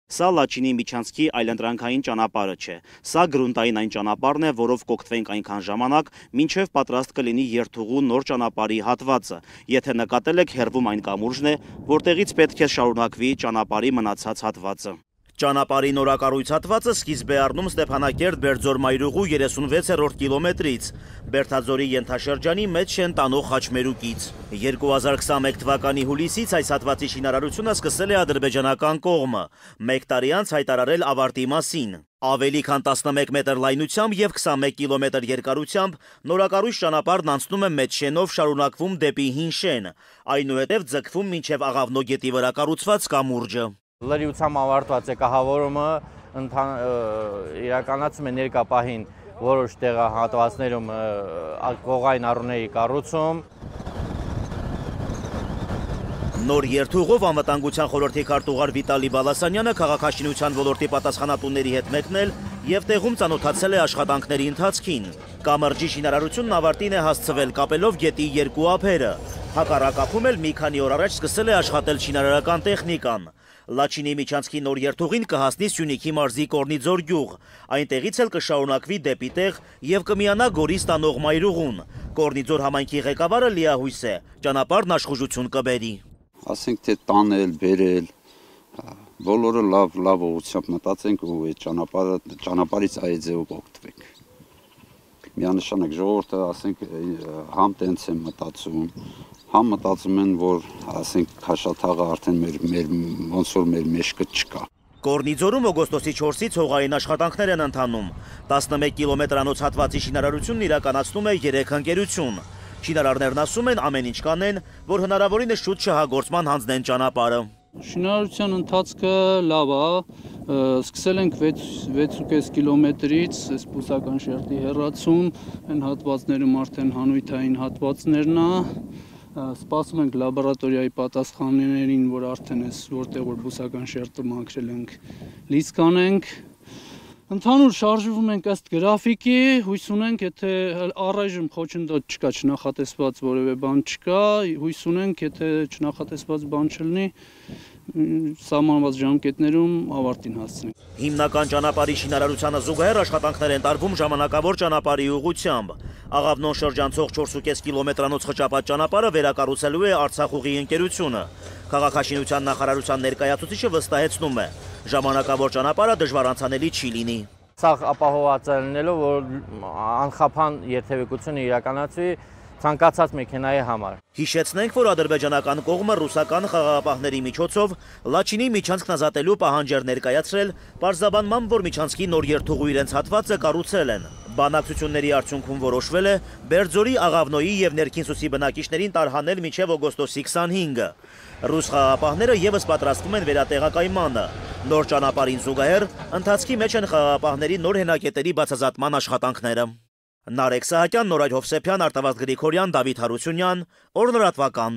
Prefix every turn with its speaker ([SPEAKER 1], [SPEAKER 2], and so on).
[SPEAKER 1] Սա Լաչինի միջանցքի այլընտրանքային ճանապարհը չէ։ Սա գրունտային այն ճանապարհն է, որով կօգտվենք այնքան ժամանակ, մինչև պատրաստ կլինի երթուղու նոր ճանապարհի հատվածը։ Եթե նկատել եք, հեռվում այն կամուրջն է, որտեղից պետք է շարունակվի ճանապարհի մնացած հատվածը։ Ճանապարհի նորակառույց հատվածը սկիզբ է առնում Ստեփանակերտ-Բերձոր-Մայրուղու 36-րդ կիլոմետրից, Բերդաձորի ենթաշրջանի մեջ շեն տանող խաչմերուկից։ 2021 թվականի հուլիսից այս հատվածի շինարարությունը սկսել է ադրբեջանական կողմը, 1 տարի անց հայտարարել ավարտի մասին։ Ավելի քան 11 մետր լայնությամբ եւ 21 կիլոմետր երկարությամբ նորակառույց ճանապարհն անցնում է մեծ շենով, շարունակվում դեպի հին շեն, այնուհետև ձգվում մինչև Աղավնո գետի վրա կառուցված կամուրջը։
[SPEAKER 2] Լրիվությամբ ավարտված է կահավորումը, իրականացում է ներկա պահին որոշ տեղահատվածներում կողային առուների կառուցում։
[SPEAKER 1] Նոր երթուղով անվտանգության խորհրդի քարտուղար Վիտալի Բալասանյանը քաղաքաշինության ոլորտի պատասխանատուների հետ մեկնել եւ տեղում ծանոթացել է աշխատանքների ընթացքին։ Կամրջի շինարարությունն ավարտին է հասցվել կապելով գետի երկու ափերը։ Հակառակապում էլ մի քանի օր առաջ սկսել է աշխատել շինարարական տեխնիկան։ Լաչինի միջանցքի նոր երթուղին կհասնի Սյունիքի մարզի Կորնիձոր գյուղ, այնտեղից էլ կշարունակվի դեպի տեղ եւ կմիանա Գորի ստանող Մայրուղուն։ Կորնիձոր համայնքի ղեկավարը լիահույս է, ճանապարհն աշխուժություն կբերի։
[SPEAKER 3] Ասենք թե տանել, բերել, բոլորը լավ ուղղությամբ մտածենք ու այդ ճանապարհից այդ ձևով օգտվենք։ Միանշանակ ժողովուրդը, ասենք, համ տենց են մտածում, համ մտածում են, որ, ասենք, Քաշաթաղը արդեն ոնց որ մեր մեջքը չկա։
[SPEAKER 1] Կորնիձորում օգոստոսի 4-ից հողային աշխատանքներ են ընթանում։ 11 կիլոմետրանոց հատվածի շինարարությունն իրականացնում է 3 ընկերություն։ Շինարարներն ասում են ամեն ինչ կանեն, որ հնարավորինս շուտ շահագործման հանձնեն ճանապարհը։
[SPEAKER 4] Շինարարության ընթացքը լավ է, սկսել ենք 6.5 կիլոմետրից, այս բուսական շերտի հեռացում, այն հատվածներում արդեն հանույթային հատվածներն է, սպասում ենք լաբորատորիայի պատասխաններին, որ արդեն այս որտեղ որ բուսական շերտը մաքրել ենք, լիցք կանենք։ Ընդհանուր շարժվում ենք ըստ գրաֆիկի, հույս ունենք, եթե առայժմ խոչընդոտ չկա, չնախատեսված որևէ բան չկա, հույս ունենք, եթե չնախատեսված բան չլինի, սահմանված ժամկետներում ավարտին հասցնենք։
[SPEAKER 1] Հիմնական ճանապարհի շինարարությանը զուգահեռ աշխատանքներ են տարվում ժամանակավոր ճանապարհի ուղղությամբ։ Աղավնոն շրջանցող 4.5 կիլոմետրանոց խճապատ ճանապարհը վերակառուցելու է Արցախուղի ընկերությունը։ Քաղաքաշինության նախարարության ներկայացուցիչը վստահեցնում է, ժամանակավոր ճանապարհը դժվար անցանելի չի լինի։
[SPEAKER 2] Սա ապահովված է լինելով, որ անխափան երթևեկությունը իրականացվի ցանկացած մեքենայի համար։
[SPEAKER 1] Հիշեցնենք, որ ադրբեջանական կողմը ռուսական խաղաղապահների միջոցով Լաչինի միջանցքն ազատելու պահանջ էր ներկայացրել, պարզաբանմամբ, որ միջանցքի նոր երթուղու իրենց հատվածը կառուցել են։ Բանակցությունների արդյունքում որոշվել է Բերձորի, Աղավնոյի եւ Ներքինսուսի բնակիչներին տարհանել մինչեւ օգոստոսի 25-ը։ Ռուս խաղաղապահները եւս պատրաստվում են վերատեղակայմանը։ Նոր ճանապարհին զուգահեռ ընթացքի մեջ են խաղաղապահների նոր հենակետերի բացազատման աշխատանքները։ Նարեկ Սահակյան, Նորայր Հովսեփյան, Արտավազդ Գրիգորյան, Դավիթ Հարությունյան, Օր լրատվական։